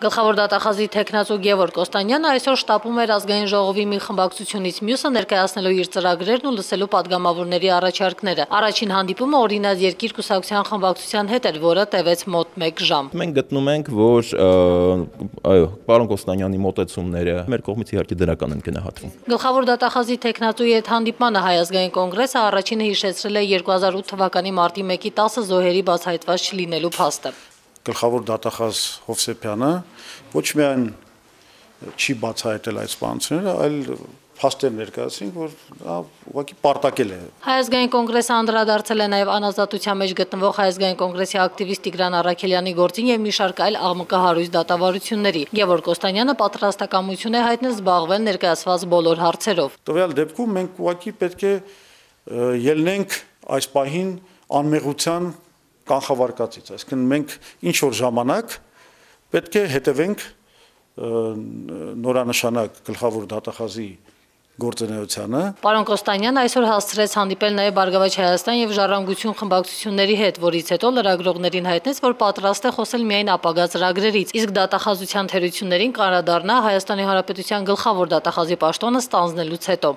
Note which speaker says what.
Speaker 1: Գլխավոր դատախազի թեկնածու Գևորգ Կոստանյանը այսօր շտապում էր ազգային ժողովի մի խմբակցությունից մյուսը ներկայացնելու իր ծրագրերն ու լսելու падգամավորների առաջարկները։ Առաջին հանդիպումը օրինաց երկիր կուսակցության խմբակցության հետ էր, որը տևեց մոտ 1 ժամ։
Speaker 2: Մենք գտնում ենք, որ պարոն Կոստանյանի մոտեցումները մեր կողմից իհարկե դրական են գնահատվում։
Speaker 1: Գլխավոր դատախազի թեկնածուի հետ հանդիպմանը Հայ ազգային կոնգրեսը առաջինը հիշեցրել է 2008 թվականի մարտի 1-ի 10 զոհերի բացահայտված չլինելու փաստը։
Speaker 3: Գլխավոր դատախազ Հովսեփյանը ոչ միայն չի բացահայտել այդ սպանությունները, այլ փաստեր ներկայացին, որ դա ուղղակի պարտակել է։
Speaker 1: Հայ ազգային կոնգրեսը անդրադարձել է նաև անազատության մեջ գտնվող Հայ ազգային կոնգրեսի ակտիվիստ Տիգրան Առաքելյանի գործին եւ մի շարք այլ աղմկահարույց դատավարությունների։ Գևորգ Կոստանյանը պատրաստակամություն է հայտնել զբաղվել ներկայացված բոլոր հարցերով։
Speaker 3: Տվյալ դեպքում մենք ուղղակի պետք է ելնենք այս պահին անմեղության կանխավարկածից, այսինքն մենք ինչ որ ժամանակ պետք է հետևենք նորանշանակ գլխավոր դատախազի գործունեությանը։
Speaker 1: Պարոն Կոստանյանը այսօր հասցրեց հանդիպել նաև Բարգավաճ Հայաստան եւ Ժառանգություն խմբակցությունների հետ, որից հետո լրագրողներին հայտնեց, որ պատրաստ է խոսել միայն ապագա ծրագրերից, իսկ դատախազության թերություններին կանդրադառնա Հայաստանի Հանրապետության գլխավոր դատախազի պաշտոնը ստանձնելուց հետո։